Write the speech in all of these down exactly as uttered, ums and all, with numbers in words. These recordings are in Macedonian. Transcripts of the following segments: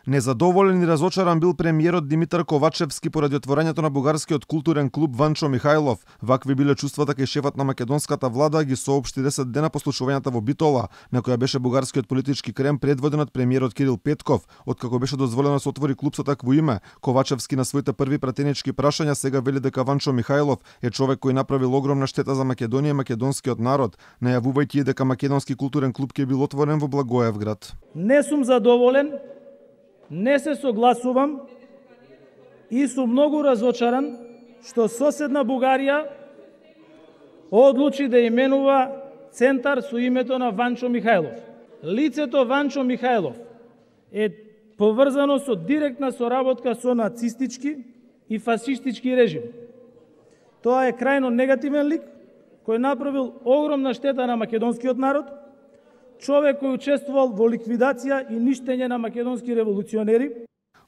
Незадоволен и разочаран бил премиерот Димитар Ковачевски поради отворањето на бугарскиот културен клуб Ванчо Михајлов. Вакви биле чувствата кај шефот на македонската влада, ги соопшти десет дена по случувањата во Битола, на која беше бугарскиот политички крем предводен од премиерот Кирил Петков. Откако беше дозволено да се отвори клуб со такво име, Ковачевски на своите први пратенички прашања сега вели дека Ванчо Михајлов е човек кој направил огромна штета за Македонија и македонскиот народ, најавувајќи дека македонски културен клуб ќе бил отворен во Благоевград. Не сум задоволен, не се согласувам и сум многу разочаран што соседна Бугарија одлучи да именува центар со името на Ванчо Михајлов. Лицето Ванчо Михајлов е поврзано со директна соработка со нацистички и фашистички режим. Тоа е крајно негативен лик кој направил огромна штета на македонскиот народ, човек кој учествувал во ликвидација и ништење на македонски револуционери.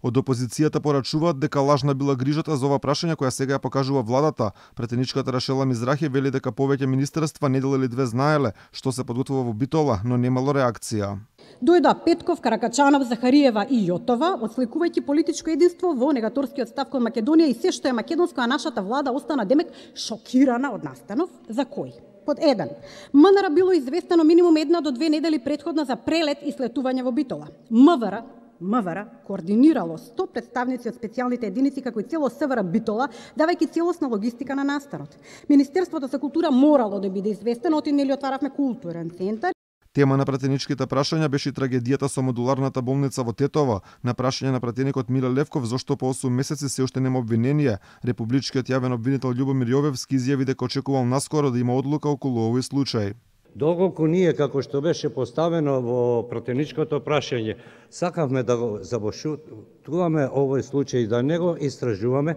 Од опозицијата порачуваат дека лажна била грижата за ова прашање која сега ја покажува владата. Претеничката Рашела Мизрахи вели дека повеќе министерства недела или две знаеле што се подготвува во Битола, но немало реакција. Дојда Петков, Каракачанов, Захариева и Јотова, отсликувајќи политичко единство во негаторскиот став кон Македонија и се што е македонско, а нашата влада остана демек шокирана од настанов. За кој? Под еден. МНР било известено минимум една до две недели претходно за прелет и слетување во Битола. МВР МВР координирало сто представници од специјалните единици како и цело СВР Битола, давајќи целосна логистика на настанот. Министерството за култура морало да биде известено, оти нели отваравме културен центар. Тема на пратеничките прашања беше и трагедијата со модуларната болница во Тетово. На прашање на пратеникот Миле Левков зошто по осум месеци се уште нема обвинение, републичкиот јавен обвинител Љубомир Јовевски изјави дека очекувал наскоро да има одлука околу овој случај. Доколку ние, како што беше поставено во пратеничкото прашање, сакавме да го забошутуваме овој случај, да не го истражуваме,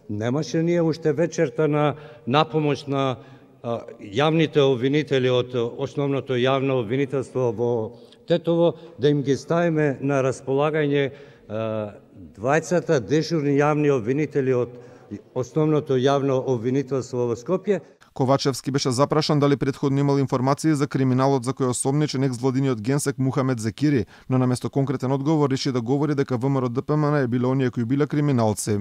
немаше ние уште вечерта на напомош на а, јавните обвинители од основното јавно обвинителство во Тетово, да им ги ставиме на располагање а, двајцата дежурни јавни обвинители од основното јавно обвинителство во Скопје. Ковачевски беше запрашан дали претходно имал информации за криминалот за кој осомничен екс-владиниот генсек Мухамед Зекири, но наместо конкретен одговор реши да говори дека ВМРО ДПМН е биле оние кои биле криминалци.